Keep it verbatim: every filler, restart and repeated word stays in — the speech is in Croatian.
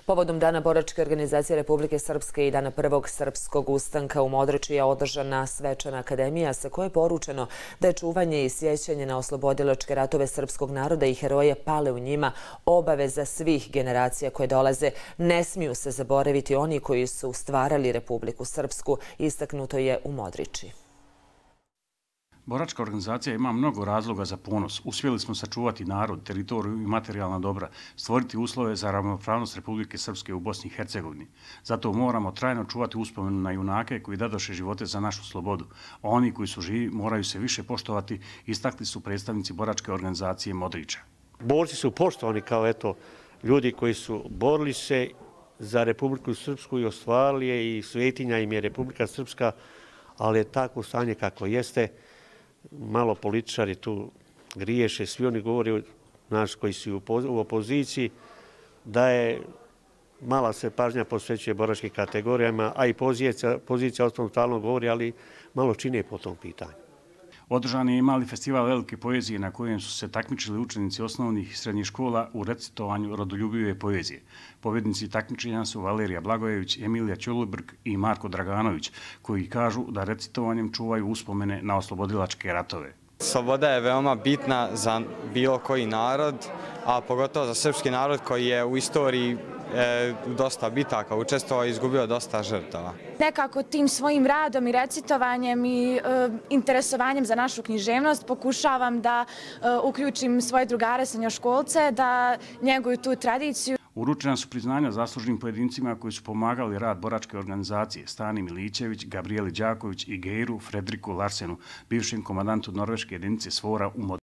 Povodom Dana boračke organizacije Republike Srpske i Dana prvog srpskog ustanka u Modriči je održana svečana akademija sa kojoj je poručeno da je čuvanje i sjećanje na oslobodilačke ratove srpskog naroda i heroje pale u njima obaveza svih generacija koje dolaze. Ne smiju se zaboraviti oni koji su stvarali Republiku Srpsku, istaknuto je u Modriči. Boračka organizacija ima mnogo razloga za ponos. Uspjeli smo sačuvati narod, teritoriju i materijalna dobra, stvoriti uslove za ravnopravnost Republike Srpske u Bosni i Hercegovini. Zato moramo trajno čuvati uspomenu na junake koji dadoše živote za našu slobodu. A oni koji su živi moraju se više poštovati, istakli su predstavnici Boračke organizacije Modriča. Borci su poštovani kao eto ljudi koji su borili se za Republiku Srpsku i ostvarili je i svetinja im je Republika Srpska, ali je tako stanje kako jeste. Malo političari tu griješe, svi oni govore, naš koji su u opoziciji, da je mala se pažnja posvećuje boračkim kategorijama, a i pozicija, pozicija osnovno stalno govori, ali malo čine po tom pitanju. Održan je i mali festival velike poezije na kojem su se takmičili učenici osnovnih i srednjih škola u recitovanju rodoljubive poezije. Pobjednici takmičenja su Valerija Blagojević, Emilija Ćolubrk i Marko Draganović, koji kažu da recitovanjem čuvaju uspomene na oslobodilačke ratove. Sloboda je veoma bitna za bilo koji narod, a pogotovo za srpski narod koji je u istoriji u dosta bitaka učestvovao i izgubio dosta žrtava. Nekako tim svojim radom i recitovanjem i e, interesovanjem za našu književnost pokušavam da e, uključim svoje drugare srednjoškolce, da njeguju tu tradiciju. Uručena su priznanja zaslužnim pojedincima koji su pomagali rad boračke organizacije: Stani Milićević, Gabrieli Đaković i Geiru Fredriku Larsenu, bivšem komandantu norveške jedinice Svora u Modriču.